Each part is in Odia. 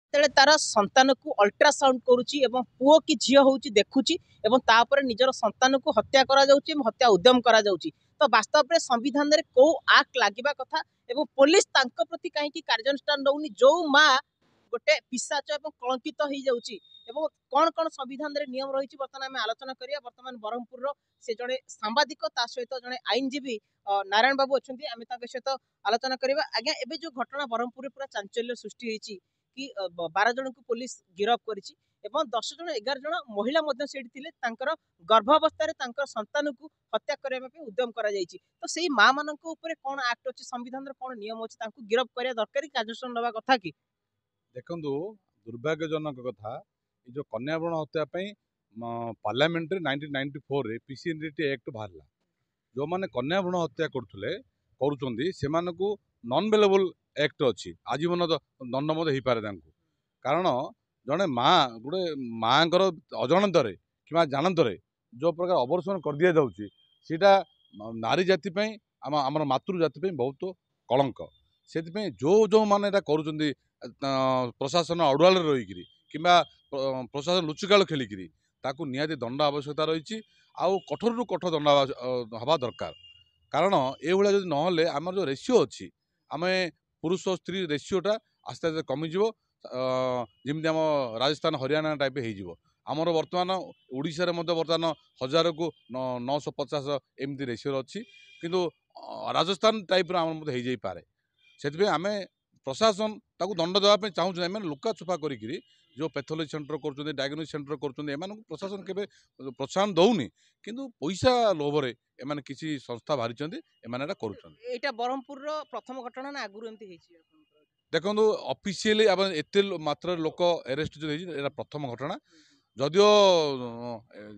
ଯେତେବେଳେ ତାର ସନ୍ତାନକୁ ଅଲ୍ଟ୍ରାସାଉଣ୍ଡ କରୁଛି ଏବଂ ପୁଅ କି ଝିଅ ହେଉଛି ଦେଖୁଛି ଏବଂ ତାପରେ ନିଜର ସନ୍ତାନକୁ ହତ୍ୟା କରାଯାଉଛି ଏବଂ ହତ୍ୟା ଉଦ୍ୟମ କରାଯାଉଛି, ତ ବାସ୍ତବରେ ସମ୍ବିଧାନରେ କୋଉ ଆକ୍ଟ ଲାଗିବା କଥା ଏବଂ ପୋଲିସ ତାଙ୍କ ପ୍ରତି କାହିଁକି କାର୍ଯ୍ୟାନୁଷ୍ଠାନ ନେଉନି? ଯୋଉ ମା ଗୋଟେ ପିଶାଚ ଏବଂ କଳଙ୍କିତ ହେଇଯାଉଛି ଏବଂ କ'ଣ କ'ଣ ସମ୍ବିଧାନରେ ନିୟମ ରହିଛି, ବର୍ତ୍ତମାନ ଆମେ ଆଲୋଚନା କରିବା। ବର୍ତ୍ତମାନ ବ୍ରହ୍ମପୁରର ସେ ଜଣେ ସାମ୍ବାଦିକ, ତା ସହିତ ଜଣେ ଆଇନଜୀବୀ ନାରାୟଣ ବାବୁ ଅଛନ୍ତି, ଆମେ ତାଙ୍କ ସହିତ ଆଲୋଚନା କରିବା। ଆଜ୍ଞା, ଏବେ ଯୋଉ ଘଟଣା ବ୍ରହ୍ମପୁରରେ ପୁରା ଚାଞ୍ଚଲ୍ୟ ସୃଷ୍ଟି ହେଇଛି କି 12 ଜଣଙ୍କୁ ପୋଲିସ ଗିରଫ କରିଛି ଏବଂ 10 ଜଣ 11 ଜଣ ମହିଳା ମଧ୍ୟ ସେଇଠି ଥିଲେ, ତାଙ୍କର ଗର୍ଭାବସ୍ଥାରେ ତାଙ୍କର ସନ୍ତାନକୁ ହତ୍ୟା କରିବା ପାଇଁ ଉଦ୍ୟମ କରାଯାଇଛି, ତ ସେଇ ମା ମାନଙ୍କ ଉପରେ କ'ଣ ଆକ୍ଟ ଅଛି, ସମ୍ବିଧାନର କ'ଣ ନିୟମ ଅଛି? ତାଙ୍କୁ ଗିରଫ କରିବା ଦରକାର କି, କାର୍ଯ୍ୟାନୁଷ୍ଠାନ ନେବା କଥା କି? ଦେଖନ୍ତୁ, ଦୁର୍ଭାଗ୍ୟଜନକ କଥା, ଏ ଯେଉଁ କନ୍ୟା ଭ୍ରୂଣ ହତ୍ୟା ପାଇଁ ପାର୍ଲାମେଣ୍ଟରେ 1994ରେ ପିସିଏନଡିଟି ଆକ୍ଟ ବାହାରିଲା। ଯେଉଁମାନେ କନ୍ୟା ଭ୍ରୂଣ ହତ୍ୟା କରୁଥିଲେ, କରୁଛନ୍ତି, ସେମାନଙ୍କୁ ନନ୍ ବେଲେବଲ୍ ଆକ୍ଟ ଅଛି, ଆଜୀବନ ଦଣ୍ଡ ମଧ୍ୟ ହେଇପାରେ ତାଙ୍କୁ। କାରଣ ଜଣେ ମା, ଗୋଟେ ମାଆଙ୍କର ଅଜାଣତରେ କିମ୍ବା ଜାଣତରେ ଯେଉଁ ପ୍ରକାର ଅବର୍ଷଣ କରିଦିଆଯାଉଛି, ସେଇଟା ନାରୀ ଜାତି ପାଇଁ, ଆମର ମାତୃ ଜାତି ପାଇଁ ବହୁତ କଳଙ୍କ। ସେଥିପାଇଁ ଯେଉଁ ଯେଉଁମାନେ ଏଇଟା କରୁଛନ୍ତି ପ୍ରଶାସନ ଅଡୁଆଳରେ ରହିକିରି କିମ୍ବା ପ୍ରଶାସନ ଲୁଚକାଳ ଖେଳିକିରି, ତାକୁ ନିହାତି ଦଣ୍ଡ ଆବଶ୍ୟକତା ରହିଛି ଆଉ କଠୋରରୁ କଠୋର ଦଣ୍ଡ ହେବା ଦରକାର। କାରଣ ଏଇଭଳିଆ ଯଦି ନହେଲେ ଆମର ଯେଉଁ ରେସିଓ ଅଛି, ଆମେ ପୁରୁଷ ସ୍ତ୍ରୀ ରେସିଓଟା ଆସ୍ତେ ଆସ୍ତେ କମିଯିବ, ଯେମିତି ଆମ ରାଜସ୍ଥାନ ହରିୟାଣା ଟାଇପ୍ ହେଇଯିବ। ଆମର ବର୍ତ୍ତମାନ ଓଡ଼ିଶାରେ ମଧ୍ୟ ବର୍ତ୍ତମାନ 1000କୁ 950 ଏମିତି ରେସିଓରେ ଅଛି, କିନ୍ତୁ ରାଜସ୍ଥାନ ଟାଇପ୍ର ଆମର ମଧ୍ୟ ହେଇଯାଇପାରେ। ସେଥିପାଇଁ ଆମେ ପ୍ରଶାସନ ତାକୁ ଦଣ୍ଡ ଦେବା ପାଇଁ ଚାହୁଁଛନ୍ତି। ଏମାନେ ଲୁକା ଛୁପା କରିକିରି ଯେଉଁ ପେଥୋଲୋଜି ସେଣ୍ଟର କରୁଛନ୍ତି, ଡାଇଗ୍ନୋସିସ୍ ସେଣ୍ଟର କରୁଛନ୍ତି, ଏମାନଙ୍କୁ ପ୍ରଶାସନ କେବେ ପ୍ରୋତ୍ସାହନ ଦେଉନି, କିନ୍ତୁ ପଇସା ଲୋଭରେ ଏମାନେ କିଛି ସଂସ୍ଥା ବାହାରିଛନ୍ତି, ଏମାନେ ଏଇଟା କରୁଛନ୍ତି। ଏଇଟା ବ୍ରହ୍ମପୁରର ପ୍ରଥମ ଘଟଣା ନା ଆଗରୁ ଏମିତି ହେଇଛି? ଦେଖନ୍ତୁ, ଅଫିସିଆଲି ଆପଣ ଏତେ ମାତ୍ରାରେ ଲୋକ ଆରେଷ୍ଟ ଯେଉଁ ହେଇଛି, ଏଇଟା ପ୍ରଥମ ଘଟଣା। ଯଦିଓ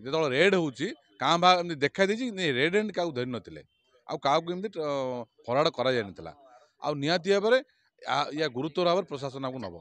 ଯେତେବେଳେ ରେଡ୍ ହେଉଛି କାଁ ଭାଁ ଏମିତି ଦେଖା ଦେଇଛି, ରେଡ୍ ଆଣ୍ଡ କାହାକୁ ଧରିନଥିଲେ ଆଉ କାହାକୁ ଏମିତି ଫରୱାର୍ଡ଼ କରାଯାଇନଥିଲା। ଆଉ ନିହାତି ଭାବରେ ୟା ଗୁରୁତ୍ୱର ଭାବରେ ପ୍ରଶାସନ ଆକୁ ନେବ।